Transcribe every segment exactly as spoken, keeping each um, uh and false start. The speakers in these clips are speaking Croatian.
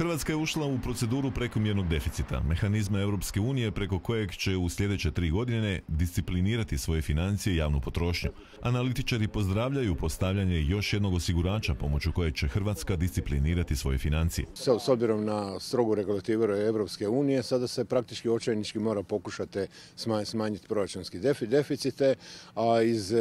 Hrvatska je ušla u proceduru prekomjernog deficita, mehanizma Europske unije preko kojeg će u sljedeće tri godine disciplinirati svoje financije i javnu potrošnju. Analitičari pozdravljaju postavljanje još jednog osigurača pomoću kojeg će Hrvatska disciplinirati svoje financije. S obzirom na strogu regulativu Europske unije, sada se praktički očajnički mora pokušati smanjiti proračunski deficite, a iz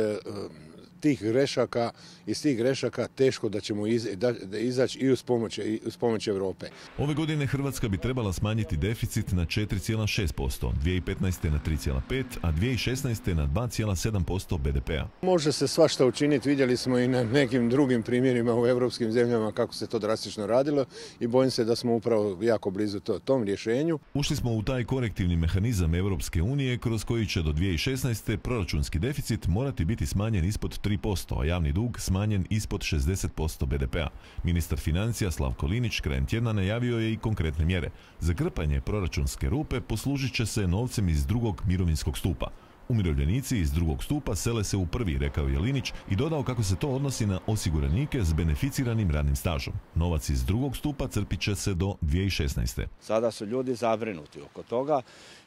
tih grešaka, iz tih grešaka teško da ćemo iz, da, da izaći i uz pomoć, i uz pomoć Europe. Ove godine Hrvatska bi trebala smanjiti deficit na četiri zarez šest posto, dvije tisuće petnaeste. na tri zarez pet, a dvije tisuće šesnaeste. na dva zarez sedam posto be de pea. Može se svašta učiniti, vidjeli smo i na nekim drugim primjerima u europskim zemljama kako se to drastično radilo i bojim se da smo upravo jako blizu to, tom rješenju. Ušli smo u taj korektivni mehanizam Europske unije kroz koji će do dvije tisuće šesnaeste. proračunski deficit morati biti smanjen ispod tri posto, a javni dug smanjen ispod šezdeset posto be de pea. Ministar financija Slavko Linić krajem tjedna najavio je i konkretne mjere. Za krpanje proračunske rupe poslužit će se novcem iz drugog mirovinskog stupa. Umirovljenici iz drugog stupa sele se u prvi, rekao je Linić i dodao kako se to odnosi na osiguranike s beneficiranim radnim stažom. Novac iz drugog stupa crpit će se do dvije tisuće šesnaeste. Sada su ljudi zabrinuti oko toga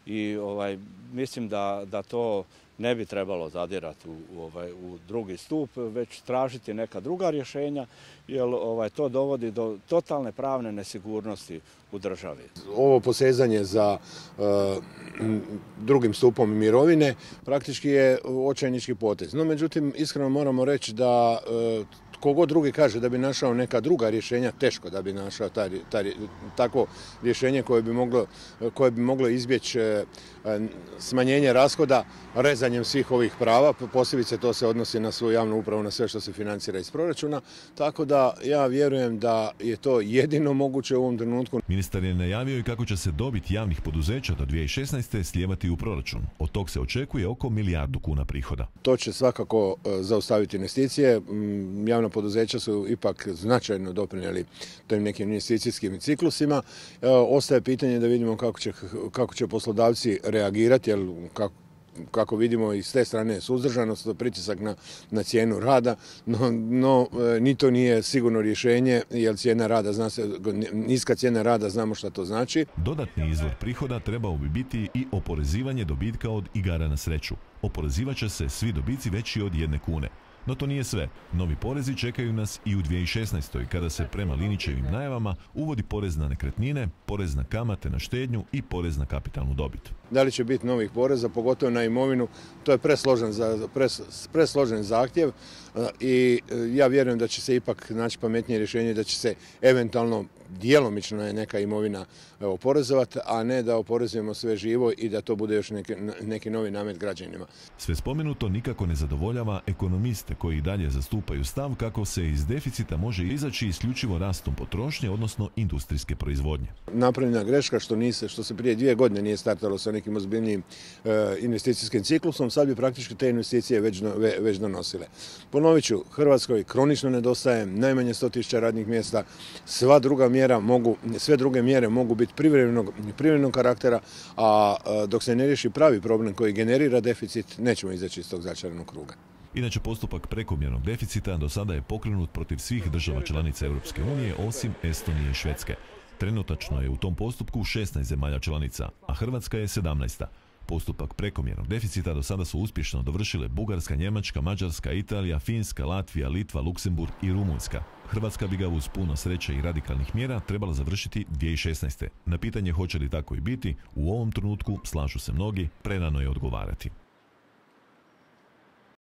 i ovaj, mislim da, da to ne bi trebalo zadirati u, u, ovaj, u drugi stup, već tražiti neka druga rješenja, jer ovaj, to dovodi do totalne pravne nesigurnosti u državi. Ovo posezanje za uh, drugim stupom mirovine praktički je očajnički potez. No, međutim, iskreno moramo reći da uh, kogod drugi kaže da bi našao neka druga rješenja, teško da bi našao taj, taj, takvo rješenje koje bi moglo, koje bi moglo izbjeći smanjenje rashoda rezanjem svih ovih prava, posebice to se odnosi na svoju javnu upravu, na sve što se financira iz proračuna, tako da ja vjerujem da je to jedino moguće u ovom trenutku. Ministar je najavio i kako će se dobit javnih poduzeća do dvije tisuće šesnaeste. slijevati u proračun. Od tog se očekuje oko milijardu kuna prihoda. To će svakako zaustaviti investicije. Javna poduzeća su ipak značajno doprinijeli tim nekim investicijskim ciklusima. Ostaje pitanje da vidimo kako će, kako će poslodavci reagirati, jer kako kako vidimo i s te strane suzdržanost, pritisak na, na cijenu rada, no, no ni to nije sigurno rješenje, jer cijena rada, zna se, niska cijena rada, znamo šta to znači. Dodatni izvor prihoda trebao bi biti i oporezivanje dobitka od igara na sreću. Oporezivat će se svi dobici veći od jedne kune. No to nije sve. Novi porezi čekaju nas i u dvije tisuće šesnaestoj. kada se prema Linićevim najavama uvodi porez na nekretnine, porez na kamate na štednju i porez na kapitalnu dobit. Da li će biti novih poreza, pogotovo na imovinu, to je presložen, za, pres, presložen zahtjev i ja vjerujem da će se ipak naći pametnije rješenje, da će se eventualno djelomično je neka imovina oporezovati, a ne da oporezujemo sve živo i da to bude još neki, neki novi namet građanima. Sve spomenuto nikako ne zadovoljava ekonomiste koji dalje zastupaju stav kako se iz deficita može izaći isključivo rastom potrošnje, odnosno industrijske proizvodnje. Napravljena greška što, nise, što se prije dvije godine nije startalo sa nekim ozbiljnijim e, investicijskim ciklusom, sad bi praktički te investicije već, ve, već donosile. Ponovit ću, Hrvatskoj kronično nedostaje najmanje sto tisuća radnih mjesta, sva druga mjera mogu, sve druge mjere mogu biti privremenog, privremenog karaktera, a dok se ne riješi pravi problem koji generira deficit, nećemo izaći iz tog začaranog kruga. Inače, postupak prekomjernog deficita do sada je pokrenut protiv svih država članica Europske unije osim Estonije i Švedske. Trenutačno je u tom postupku šesnaest zemalja članica, a Hrvatska je sedamnaesta. Postupak prekomjernog deficita do sada su uspješno dovršile Bugarska, Njemačka, Mađarska, Italija, Finska, Latvija, Litva, Luksemburg i Rumunjska. Hrvatska bi ga uz puno sreće i radikalnih mjera trebala završiti dvije tisuće šesnaeste. Na pitanje hoće li tako i biti, u ovom trenutku, slažu se mnogi, prerano je odgovarati.